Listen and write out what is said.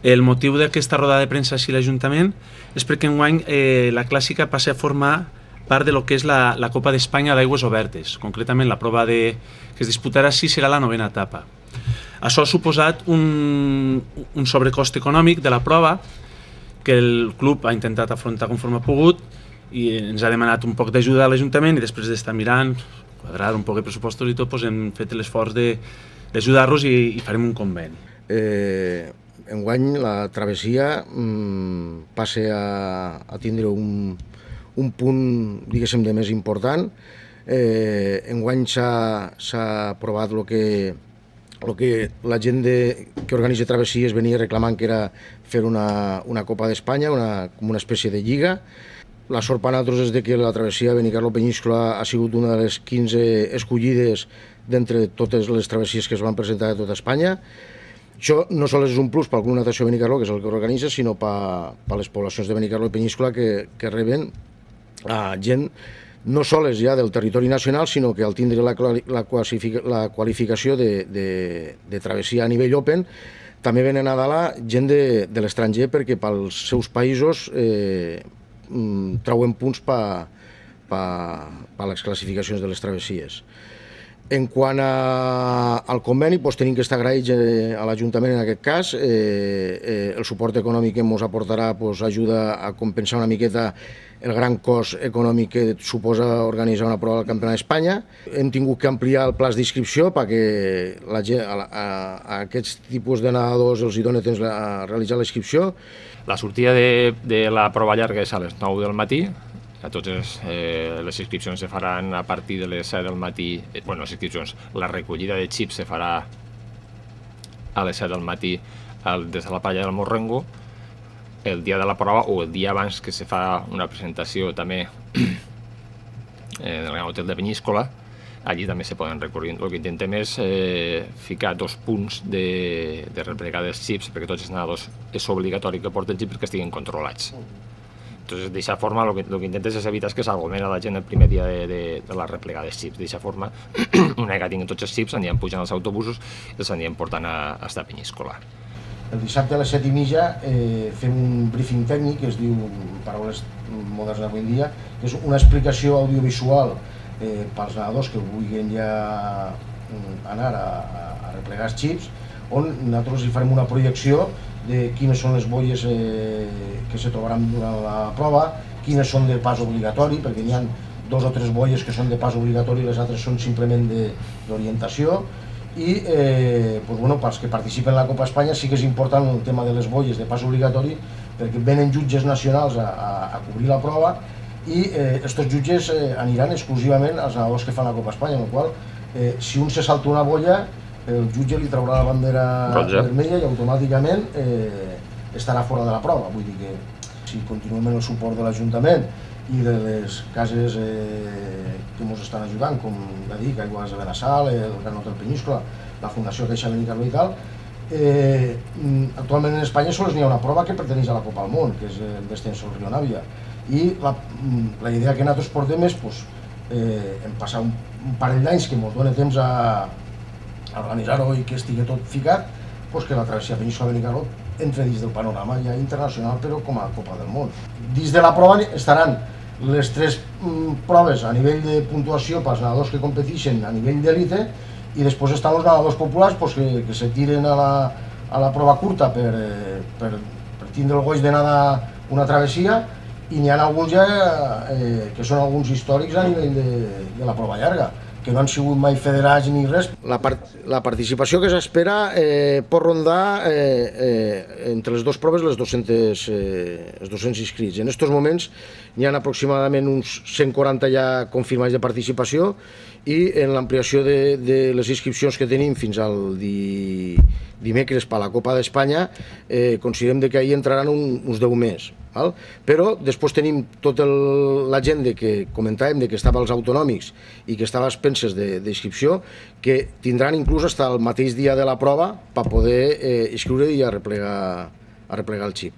El motiu d'aquesta roda de premsa així a l'Ajuntament és perquè enguany la clàssica passa a formar part de lo que és la Copa d'Espanya d'aigües obertes. Concretament, la prova que es disputarà així serà la 9ª etapa. Això ha suposat un sobrecost econòmic de la prova que el club ha intentat afrontar conforme ha pogut i ens ha demanat un poc d'ajuda a l'Ajuntament i després d'estar mirant, quadrar un poc de pressupostos i tot, hem fet l'esforç d'ajudar-los i farem un conveni. Enguany la travessia passa a tindre un punt, diguéssim, de més important. Enguany s'ha aprovat el que la gent que organitza travessies venia reclamant, que era fer una Copa d'Espanya, com una espècie de lliga. La sort per nosaltres és que la travessia Benicarló-Peníscola ha sigut una de les 15 escollides d'entre totes les travessies que es van presentar a tota Espanya. Això no sols és un plus pel Club Natació Benicarló, que és el que organitza, sinó per les poblacions de Benicarló i Peníscola que reben gent no sols ja del territori nacional, sinó que al tindre la qualificació de travessia a nivell open, també venen a dalt gent de l'estranger perquè pels seus països trauen punts per les classificacions de les travessies. En quant al conveni, tenim que estar agraïts a l'Ajuntament en aquest cas. El suport econòmic que ens aportarà ajuda a compensar una miqueta el gran cost econòmic que suposa organitzar una prova del Campionat d'Espanya. Hem tingut que ampliar el pla d'inscripció perquè a aquests tipus de nedadors els dona temps a realitzar la inscripció. La sortida de la prova llarga és a les 9 del matí. Totes les inscripcions se faran a partir de les 7 del matí. Bueno, les inscripcions, la recollida de xips se farà a les 7 del matí des de la playa del Morrengo. El dia de la prova o el dia abans, que se fa una presentació també en el Gran Hotel de Peníscola, allí també se poden recorrer. El que intentem és ficar 2 punts de replegar dels xips, perquè tots els nedadors és obligatori que porten xips perquè estiguin controlats. Entonces, d'aquesta forma, el que intentes és evitar que s'aglomera la gent el primer dia de la replegada dels xips. D'aquesta forma, una vegada tinguin tots els xips, anirem pujant als autobusos i els anirem portant a estar a Peníscola. El dissabte a les 7:30 fem un briefing tècnic que es diu, en paraules modernes d'avui en dia, que és una explicació audiovisual pels nedadors que vulguin ja anar a replegar els xips, on nosaltres hi farem una projecció de quines són les boies que se trobaran durant la prova, quines són de pas obligatori, perquè n'hi ha 2 o 3 boies que són de pas obligatori i les altres són simplement d'orientació. I pels que participen en la Copa Espanya sí que és important el tema de les boies de pas obligatori, perquè venen jutges nacionals a cobrir la prova i aquests jutges aniran exclusivament als nedadors que fan la Copa Espanya, amb la qual cosa, si un se salta una boia, el jutge li traurà la bandera vermella i automàticament estarà fora de la prova. Vull dir que si continuem amb el suport de l'Ajuntament i de les cases que ens estan ajudant, com ja dic, Aigües de Benassal, el Gran Hotel Peníscola, la Fundació Caixa Benicarló i tal, actualment en Espanya sols n'hi ha una prova que perteneix a la Copa del Món, que és el descens al Rio Navia. I la idea que nosaltres portem és, en passar un parell d'anys que ens dona temps a organitzar-ho i que estigui tot ficat, que la travessia Peníscola-Benicarló entre dins del panorama ja internacional, però com a Copa del Món. Dins de la prova estaran les 3 proves a nivell de puntuació pels nedadors que competeixen a nivell d'elite i després estan els nedadors populars que se tiren a la prova curta per tindre el goig de nedar una travessia, i n'hi ha alguns ja que són alguns històrics a nivell de la prova llarga, que no han sigut mai federats ni res. La participació que s'espera pot rondar entre les 2 proves els 200 inscrits. En aquests moments n'hi ha aproximadament uns 140 ja confirmats de participació i en l'ampliació de les inscripcions que tenim fins al dimecres per la Copa d'Espanya considerem que ahir entraran uns 10 més. Però després tenim tota la gent que comentàvem que estava als autonòmics i que estava a expenses d'inscripció, que tindran inclús fins al mateix dia de la prova per poder inscriure i a replegar el xip.